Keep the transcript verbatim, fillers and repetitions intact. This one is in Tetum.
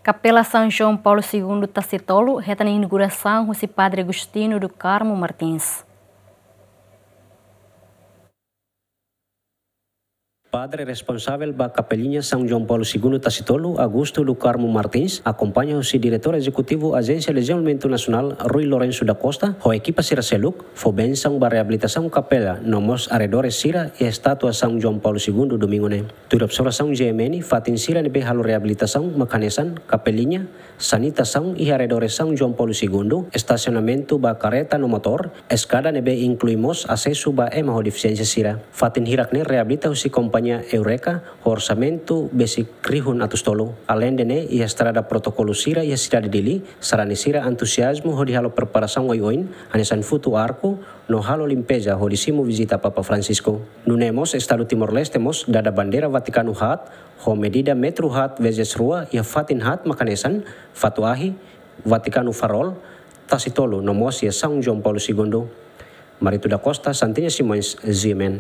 Kapela São João Paulo Segundo Tasitolu hetan inaugurasaun husi Padre Agostinho do Carmo Martins. Padre responsavel ba Kapeliña São João Paulo Segundo Tasitolu, Augusto do Carmo Martins, akompaña husi Diretór Ezekutivu Ajénsia Dezenvolvimentu Nasionál, Rui Lourenço da Costa, ho ekipa sira seluk, fó bensaun ba reabilitasaun kapela no mós arredores sira iha estátua São João Paulo Segundo domingu ne'e. Tuir observasaun G M N, fatin sira ne'ebé halo reabilitasaun mak hanesan kapeliña, sanitasaun iha arredores São João Paulo Segundo, estasionamentu ba karreta no motór, eskada ne'ebé inklui mós asesu ba ema ho defisiénsia sira. Fatin hirak ne'e reabilita husi kompañia Eureka, ho orsamentu besik rihun atus tolu. Aleinde ne'e, iha estrada protokolu sira iha sidade Dili, sarani sira entuziazmu hodi halo preparasaun oioin, hanesan futu arku, no halo limpeza hodi simu vizita Papa Francisco. Nune'e mós Estadu Timor-Leste mós dada bandeira Vatikanu haat, ho medida metru haat vezes rua iha fatin haat mak hanesan, Fatu Ahi, Vatikanu Farol, Tasitolu no mós iha São João Paulo Segundo. Marito da Costa, Santinha Simões, G M N.